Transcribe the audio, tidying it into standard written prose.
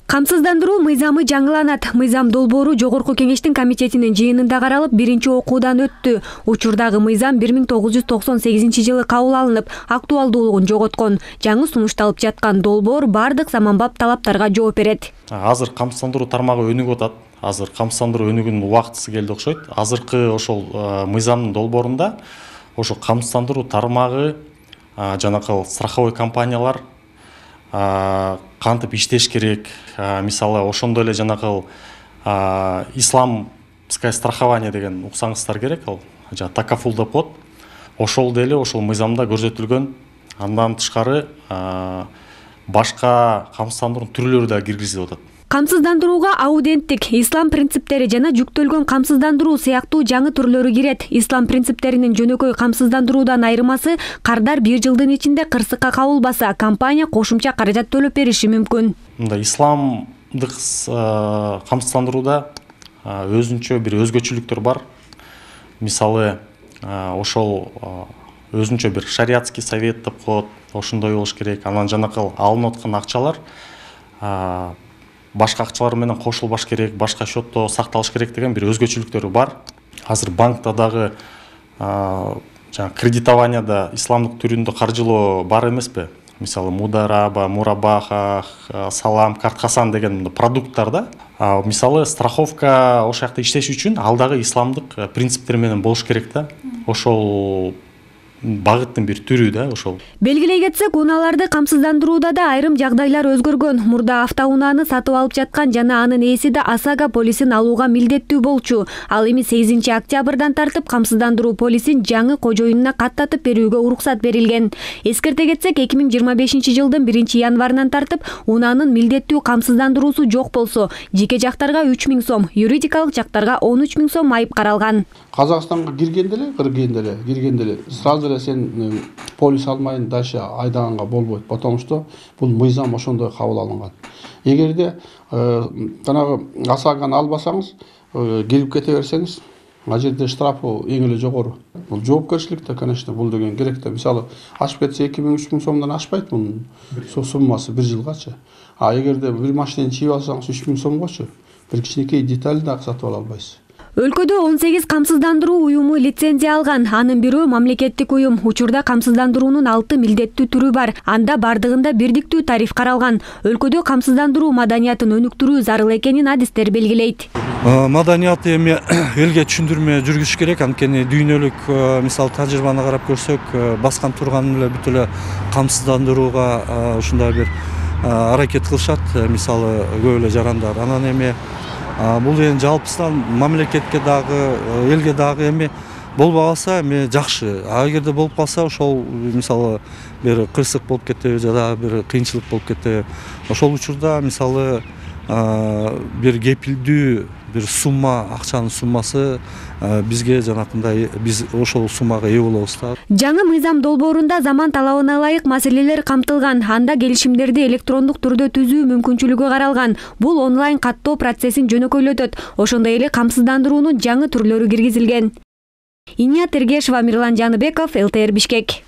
Камсыздандыруу мыйзамы жаңыланат. Мыйзам долбоору Жогорку Кеңештин комитетинин жыйынында каралып, биринчи окуудан өттү. Учурдагы мыйзам 1998-жылы кабыл алынып, актуалдуулугун жоготкон. Жаңы сунушталып жаткан долбоор бардык заманбап талаптарга жооп берет. Азыр камсыздандыруу тармагы өнүгүп атат. Азыр камсыздандыруу өнүгүүнүн убактысы келди окшойт. Азыркы ошол мыйзамдын долбоорунда ошо камсыздандыруу тармагы жанакы страховой компаниялар кантип иштеш керек, мисалы ошондой эле жанакы исламское страхование деген уксаңыздар керек, ал такафул деп коет. Ошол деле ошол мыйзамда көрсөтүлгөн. Андан тышкары башка камсыздандыруу түрлөрү да киргизилип атат. Камсыздандырууга ауденттик, ислам принциптери жана жүктөлгөн камсыздандыруу сыяктуу жаңы түрлөрү кирет. Ислам принциптеринин жөнөкөй камсыздандыруудан айырмасы, кардар 1 жылдын ичинде кырсыкка кабылбаса, компания кошумча каражат төлөп бериши мүмкүн. Мында исламдык камсыздандырууда өзүнчө бир өзгөчөлүктөр бар. Мисалы, ошол өзүнчө бир шариатский совет деп коет, ошондой болуш керек. Анан жанакы алынып аткан акчалар башка акчалар менен кошулбаш керек, башка счетто сакталыш керек деген бир өзгөчөлүктөрү бар. Азыр банкта дагы кредитованияда исламдык түрүндө каржылоо бар эмеспи? Мисалы, Мудараба, Мурабаха, Салам, Картхасан деген продукттарда. Мисалы, страховка ошол жакта иштеш үчүн ал дагы исламдык принциптер менен болуш керек да. Ошол багыттын бир түрү да ошол. Белгилей кетсек, унааларды камсыздандырууда да айрым жагдайлар өзгөргөн. Мурда автоунааны сатып алып жаткан жана анын ээси да ОСАГО полисин алууга милдеттүү болчу. Ал эми 8 октябрдан тартып камсыздандыруу полисин жаңы кожоюнуна каттатып берүүгө уруксат берилген. Эскерте кетсек, 2025-жылдын 1-январынан тартып унаанын милдеттүү камсыздандыруусу жок болсо, жеке жактарга 3000 сом, юридикалык жактарга 13 000 сом айып каралган. Казакстанга киргенде эле сразу эле сен полис алмайын дальше айдаганга болбойт, потому что бул мыйзам ошондой кабыл алынган. Эгерде жанагы ОСАГОны албасаңыз, келип кете берсеңиз, ал жерде штрафы эң эле жогору. Бул жоопкерчилик да, конечно, бул деген керек да. Мисалы, ашып кетсе 2000-3000 сомдон ашпайт мунун суммасы 1 жылгачы. Эгерде бир машинени чийип алсаңыз 3000 сомгочу, бир кичинекей деталь да сатып ала албайсыз. Өлкөдө 18 камсыздандыруу уюму лицензия алган. Анын бирөө мамлекеттик уюм. Учурда камсыздандыруунун 6 милдеттүү түрү бар. Анда бардыгында бирдиктүү тариф каралган. Өлкөдө камсыздандыруу маданиятын өнүктүрүү зарыл экенин адистер белгилейт. Маданиятты эми элге түшүндүрмө жүргүзүш керек. Анткени дүйнөлүк мисал тажрыйбаны карап көрсөк, баскан турган эле бүт эле камсыздандырууга ушундай бир аракет кылышат. Мисалы, көп эле жарандар. Анан эми бул эми жалпысынан мамлекетке дагы, элге дагы эми болбой калса эми жакшы. Эгерде болуп калса, ошол мисалы бир кырсык болуп кетеби жада бир кыйынчылык болуп кетеби. Ошол учурда мисалы бир кепилдүү бир сумма, акчанын суммасы бизге жанакындай биз ошол суммага ээ болобуз да. Жаңы мыйзам долбоорунда заман талабына ылайык маселелер камтылган. Анда келишимдерди электрондук түрдө түзүү мүмкүнчүлүгү каралган. Бул онлайн каттоо процессин жөнөкөйлөтөт. Ошондой эле камсыздандыруунун жаңы түрлөрү киргизилген. Иния Тергешова, Мирлан Жаныбеков, ЛТР Бишкек.